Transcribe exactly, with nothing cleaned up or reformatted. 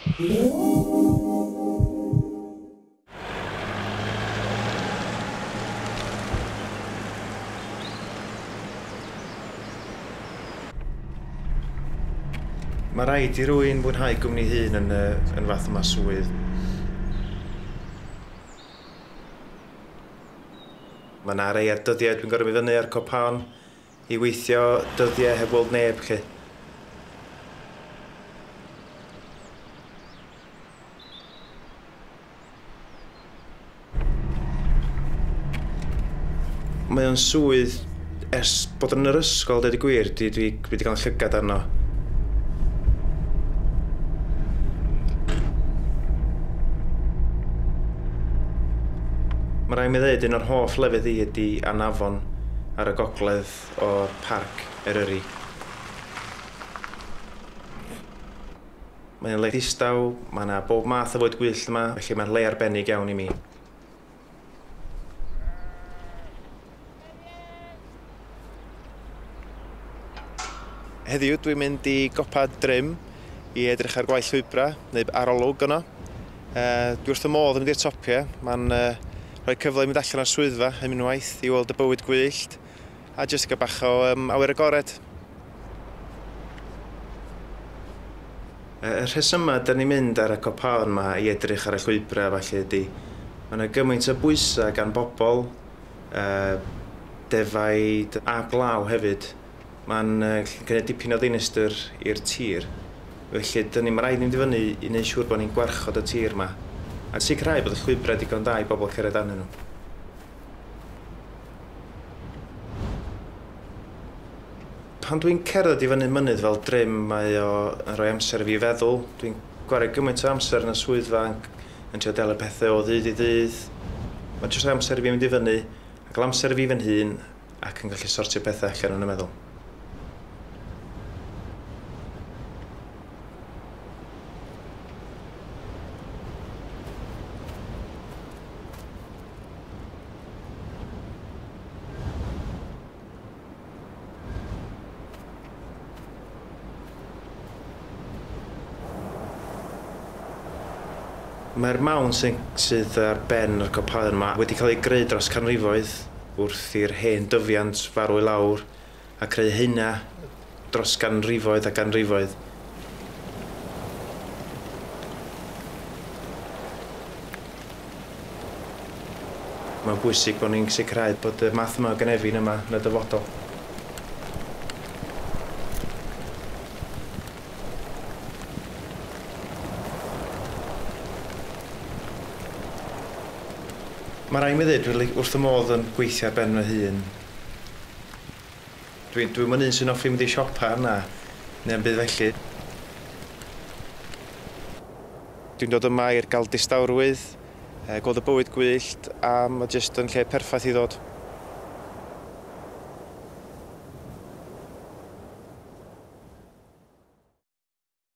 Mae rhaid i rywun fwynhau gwmni hun yn, yn fath yma swydd. Mae yna rei ar dyddiau dwi'n gorfod mynd fyny ar copaon i weithio dyddiau heb weld neb, lly. Mae o'n swydd ers bod yn yr ysgol, deud y gwir, dwi, dwi wedi cael llygad arno. Mae rhaid mi ddweud un o'r hoff lefydd i ydy Anafon ar y gogledd o'r parc Eryri. Mae'n le distaw, mae yna bob math o fwyd gwyllt yma, felly mae'n le arbennig iawn i mi. Heddiw dwi'n mynd i gopa Drym i edrych ar gwaith llwybrau, neu arolwg yno. Uh, dwi wrth y modd yn mynd i'r topiau. Mae'n uh, rhoi cyfle i mynd allan o'r swyddfa am unwaith i weld y bywyd gwyllt a jyst gael bach o um, awyr agored. Y rhesymau da ni'n mynd ar y copaon yma i edrych ar y llwybrau falle ydy, mae yna gymaint o bwysau gan bobl, uh, defaid a glaw hefyd. Mae'n uh, gwneud dipyn o ddinistr i'r tir. Felly, dyn ni'n rhaid mynd i fyny i wneud siŵr bod ni'n gwarchod y tir yma. A sicrhau bod y llwybrau digon da i bobl cerdded arnyn nhw. Pan dwi'n cerdded i fyny mynydd fel Drym, mae o yn rhoi amser i fi feddwl. Dwi'n gwario gymaint o amser yn y swyddfa yn, yn trio delio pethau o ddydd i ddydd. Mae'n jyst rhoi amser i fi mynd i fyny, a gael amser i fi fy hun, ac yn gallu sortio pethau allan yn y meddwl. Mae'r mawn sydd ar ben yr copaon yma wedi cael ei greu dros canrifoedd wrth i'r hen dyfiant farw i lawr a creu hynna dros ganrifoedd a ganrifoedd. Mae'n bwysig bod ni'n sicrhau bod y math yma o gynefin yma yn y dyfodol. Mae rhaid mi ddweud, dwi wrth y modd yn gweithio ar ben fy hun. Dwi'n dwi un sy'n hoffi mynd i siopa na, neu am byd felly. Dwi'n dod yma i'r gael distawrwydd, gweld y bywyd gwyllt, a mae jyst yn lle perffaith i ddod.